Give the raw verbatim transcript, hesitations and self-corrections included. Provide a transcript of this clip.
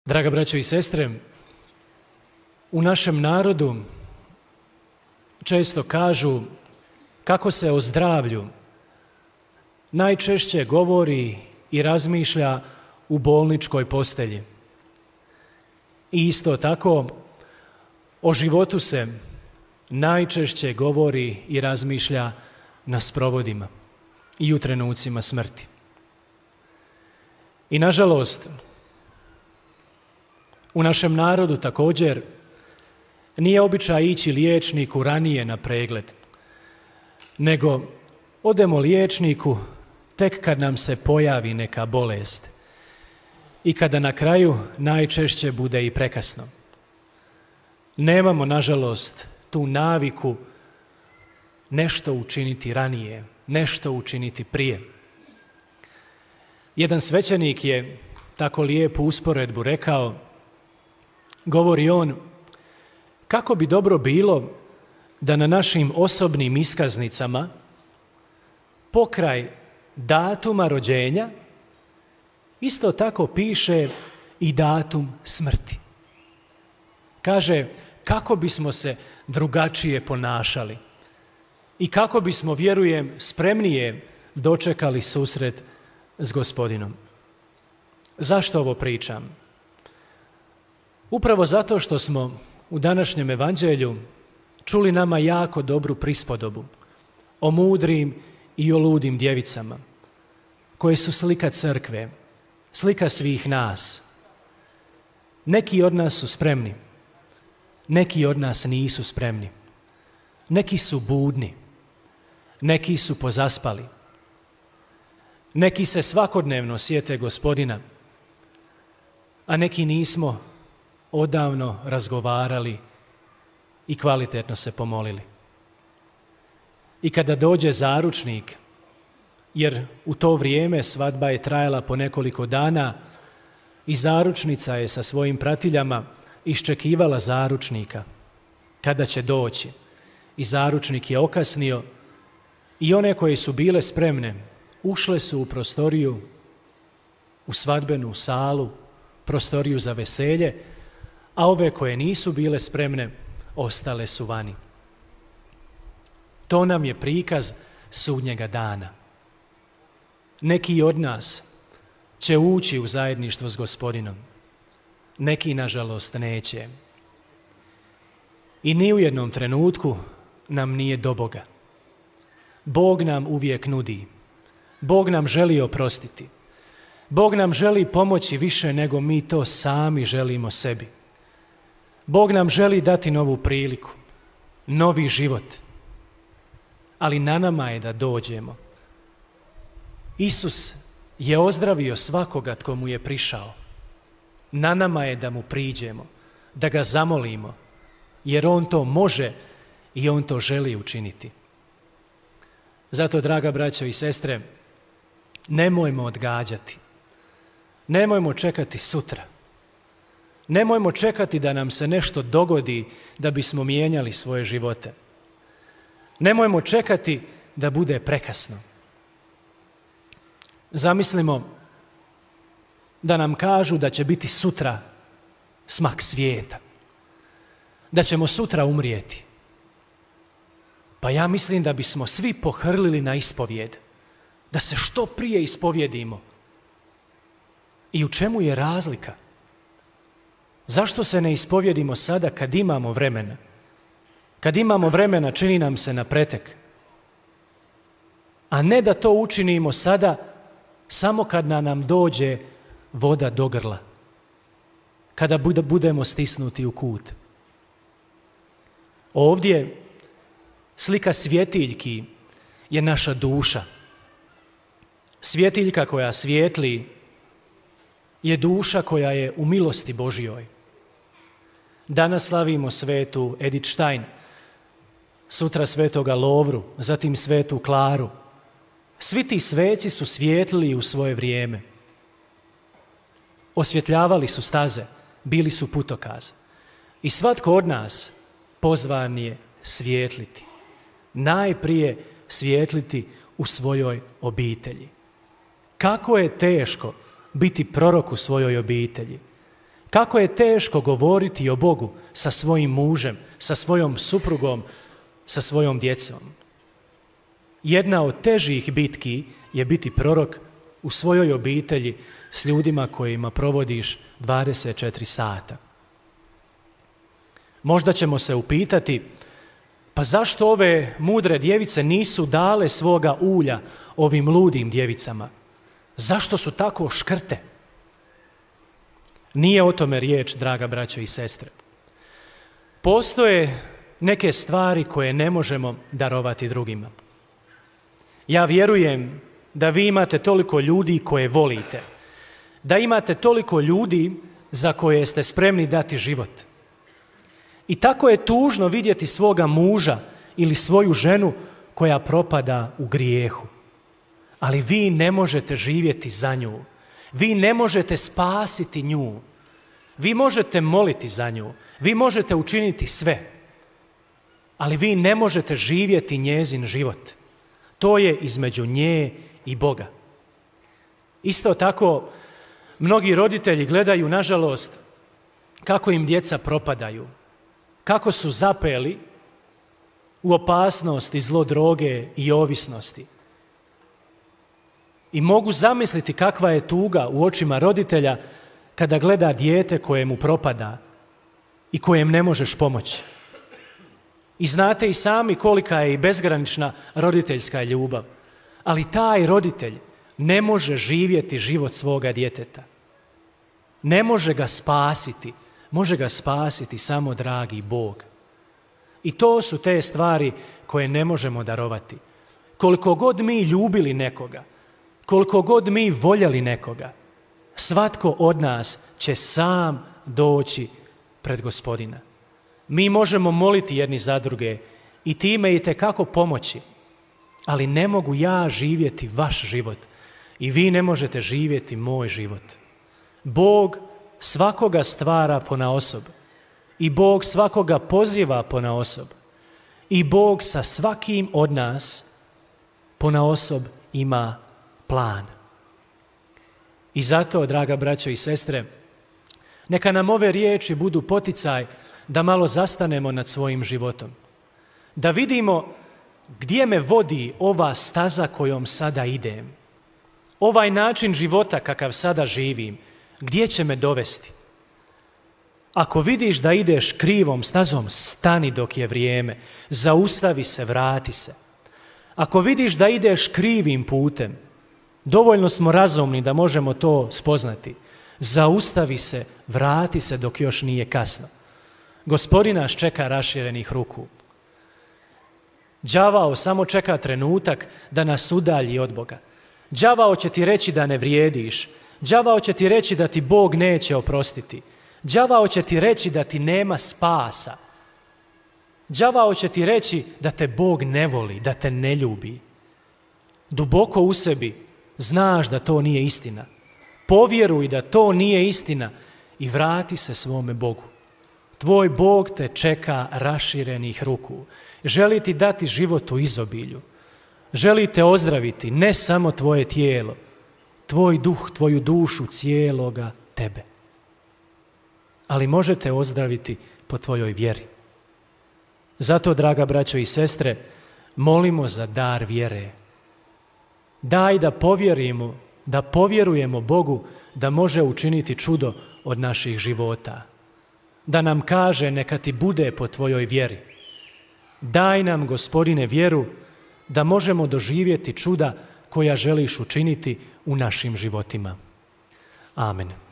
Draga braćo i sestre, u našem narodu često kažu kako se o zdravlju najčešće govori i razmišlja u bolničkoj postelji. I isto tako o životu se najčešće govori i razmišlja na sprovodima i u trenucima smrti. I nažalost, u našem narodu također nije običaj ići liječniku ranije na pregled, nego odemo liječniku tek kad nam se pojavi neka bolest i kada na kraju najčešće bude i prekasno. Nemamo, nažalost, tu naviku nešto učiniti ranije, nešto učiniti prije. Jedan svećenik je tako lijepu usporedbu rekao, govori on, kako bi dobro bilo da na našim osobnim iskaznicama pokraj datuma rođenja isto tako piše i datum smrti. Kaže, kako bismo se drugačije ponašali i kako bismo, vjerujem, spremnije dočekali susret s Gospodinom. Zašto ovo pričam? Upravo zato što smo u današnjem evanđelju čuli nama jako dobru prispodobu o mudrim i o ludim djevicama, koje su slika crkve, slika svih nas. Neki od nas su spremni, neki od nas nisu spremni, neki su budni, neki su pozaspali, neki se svakodnevno sjete Gospodina, a neki nismo odavno razgovarali i kvalitetno se pomolili. I kada dođe zaručnik, jer u to vrijeme svadba je trajala po nekoliko dana i zaručnica je sa svojim pratiljama iščekivala zaručnika kada će doći. I zaručnik je okasnio i one koje su bile spremne ušle su u prostoriju, u svadbenu salu, prostoriju za veselje, a ove koje nisu bile spremne ostale su vani. To nam je prikaz sudnjega dana. Neki od nas će ući u zajedništvo s Gospodinom, neki nažalost neće. I ni u jednom trenutku nam nije do Boga. Bog nam uvijek nudi. Bog nam želi oprostiti. Bog nam želi pomoći više nego mi to sami želimo sebi. Bog nam želi dati novu priliku, novi život. Ali na nama je da dođemo. Isus je ozdravio svakoga tko mu je prišao. Na nama je da mu priđemo, da ga zamolimo, jer on to može i on to želi učiniti. Zato, draga braćo i sestre, nemojmo odgađati. Nemojmo čekati sutra. Nemojmo čekati da nam se nešto dogodi da bismo mijenjali svoje živote. Nemojmo čekati da bude prekasno. Zamislimo da nam kažu da će biti sutra smak svijeta, da ćemo sutra umrijeti. Pa ja mislim da bismo svi pohrlili na ispovijed, da se što prije ispovjedimo. I u čemu je razlika? Zašto se ne ispovjedimo sada kad imamo vremena? Kad imamo vremena čini nam se na pretek. A ne da to učinimo sada samo kad na nam dođe voda do grla. Kada budemo stisnuti u kut. Ovdje slika svjetiljki je naša duša. Svjetiljka koja svijetli je duša koja je u milosti Božjoj. Danas slavimo svetu Edith Stein, sutra svetoga Lovru, zatim svetu Klaru. Svi ti sveci su svijetlili u svoje vrijeme. Osvjetljavali su staze, bili su putokaz. I svatko od nas pozvan je svijetliti. Najprije svijetliti u svojoj obitelji. Kako je teško biti prorok u svojoj obitelji. Kako je teško govoriti o Bogu sa svojim mužem, sa svojom suprugom, sa svojom djecom. Jedna od težih bitki je biti prorok u svojoj obitelji s ljudima kojima provodiš dvadeset četiri sata. Možda ćemo se upitati, pa zašto ove mudre djevice nisu dale svoga ulja ovim ludim djevicama? Zašto su tako škrte? Nije o tome riječ, draga braćo i sestre. Postoje neke stvari koje ne možemo darovati drugima. Ja vjerujem da vi imate toliko ljudi koje volite, da imate toliko ljudi za koje ste spremni dati život. I tako je tužno vidjeti svoga muža ili svoju ženu koja propada u grijehu. Ali vi ne možete živjeti za nju. Vi ne možete spasiti nju. Vi možete moliti za nju. Vi možete učiniti sve. Ali vi ne možete živjeti njezin život. To je između nje i Boga. Isto tako, mnogi roditelji gledaju, nažalost, kako im djeca propadaju. Kako su zapeli u opasnost i zlo droge i ovisnosti. I mogu zamisliti kakva je tuga u očima roditelja kada gleda dijete kojemu propada i kojem ne možeš pomoći. I znate i sami kolika je i bezgranična roditeljska ljubav. Ali taj roditelj ne može živjeti život svoga djeteta. Ne može ga spasiti. Može ga spasiti samo dragi Bog. I to su te stvari koje ne možemo darovati. Koliko god mi ljubili nekoga, koliko god mi voljeli nekoga, svatko od nas će sam doći pred Gospodina. Mi možemo moliti jedni za druge i time itekako pomoći, ali ne mogu ja živjeti vaš život i vi ne možete živjeti moj život. Bog svakoga stvara ponaosob i Bog svakoga poziva ponaosob i Bog sa svakim od nas ponaosob ima plan. I zato, draga braćo i sestre, neka nam ove riječi budu poticaj da malo zastanemo nad svojim životom. Da vidimo gdje me vodi ova staza kojom sada idem. Ovaj način života kakav sada živim, gdje će me dovesti? Ako vidiš da ideš krivom stazom, stani dok je vrijeme, zaustavi se, vrati se. Ako vidiš da ideš krivim putem, dovoljno smo razumni da možemo to spoznati. Zaustavi se, vrati se dok još nije kasno. Gospodin nas čeka raširenih ruku. Đavao samo čeka trenutak da nas udalji od Boga. Đavao će ti reći da ne vrijediš. Đavao će ti reći da ti Bog neće oprostiti. Đavao će ti reći da ti nema spasa. Đavao će ti reći da te Bog ne voli, da te ne ljubi. Duboko u sebi znaš da to nije istina. Povjeruj da to nije istina i vrati se svome Bogu. Tvoj Bog te čeka raširenih ruku. Želi ti dati život u izobilju. Želi te ozdraviti, ne samo tvoje tijelo, tvoj duh, tvoju dušu, cijeloga tebe. Ali možete ozdraviti po tvojoj vjeri. Zato, draga braćo i sestre, molimo za dar vjere. Daj da povjerimo, da povjerujemo Bogu da može učiniti čudo od naših života. Da nam kaže neka ti bude po tvojoj vjeri. Daj nam, Gospodine, vjeru da možemo doživjeti čuda koja želiš učiniti u našim životima. Amen.